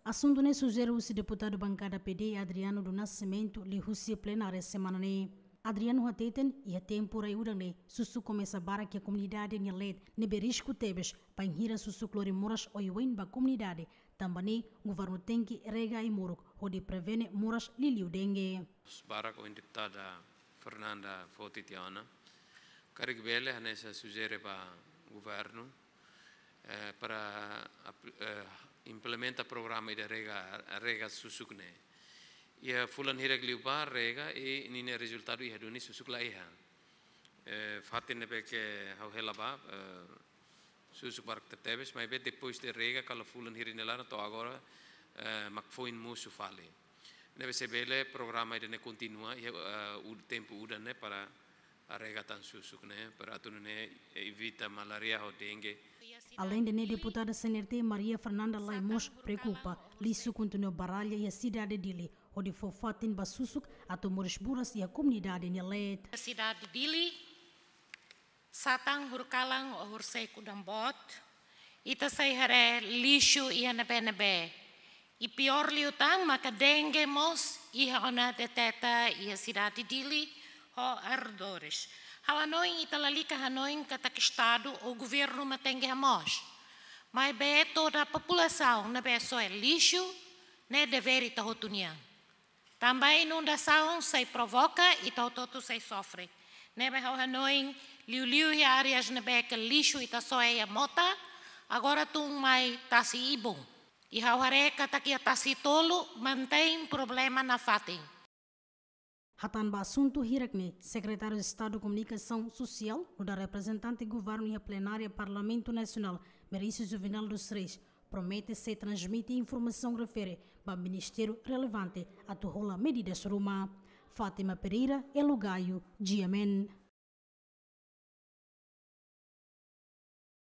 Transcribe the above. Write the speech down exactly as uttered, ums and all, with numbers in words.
Asuntu ne'e sujere husi deputadu bankada P D, Adriano do Nascimento, liuhusi plenária semana ne'e. Adriano hateten, iha tempu rai udan ne'e, susuk komesa barak iha komunidade nia leet, ne'ebé risku tebes, bainhira susuk lori moras oioin ba komunidade, tanba ne'e governu tenke rega ai-moruk, hodi prevene moras liuliu dengue. Barak ohin deputada Fernanda foti tiha ona, karik bele hanesan sujere ba governu, eh, para apl-, eh, implementa programa ida rega, rega susuk ne'e. Iha fulan hirak liubá rega i ninia rezultadu iha duni susuk la iha. Eh, fatin ne'ebé ke ha'u hela ba, eh, susuk barak tebetebes, maibé depois de rega, kala fulan hirak nia laran to'o agora, eh, mak foin mosu fali. Ne'ebé se bele programa ida ne'e kontinua, iha, eh, u-, tempu udan ne'e para rega tan susuk ne'e, para atu nune'e evita malária ho dengue. Aleinde ne'e, deputada C N R T Maria Fernanda Lais mós preokupa, lixu kontinua baralla iha sidade Dili, hodi fó fatin ba susuk atu moris buras iha komunidade nia leet. Sidade Dili, satán horikalan ou horiseik udan boot, ita sei haree lixu iha ne'ebé-ne'ebé. I piór liután maka dengue mós iha ona deteta iha sidade Dili ho arredores. Ha'u hanoin ita lalika hanoin katak Estadu ou governu mak tenke hamoos. Maibé toda populasaun ne'ebé soe lixu, ne'e devér ita hotu nian. Tanba inundasaun sei provoka, ita hotu-hotu sei sofre. Ne'ebé ha'u hanoin, liuliu iha áreas ne'ebé ke lixu ita soe iha mota, agora tun mai tasi ibun. I ha'u haree katak iha tasi tolu mantein problema nafatin. Hatán ba asuntu hirak ne'e, Sekretáriu Estadu Komunikasaun Sosiál, nu'udar reprezentante governu iha plenária Parlamentu Nasionál, Meirelles Juvenal dos Reis, promete sei transmite informasaun refere ba ministériu relevante atu hola medidas ruma. Fátima Pereira, Elo Gaio, G M N.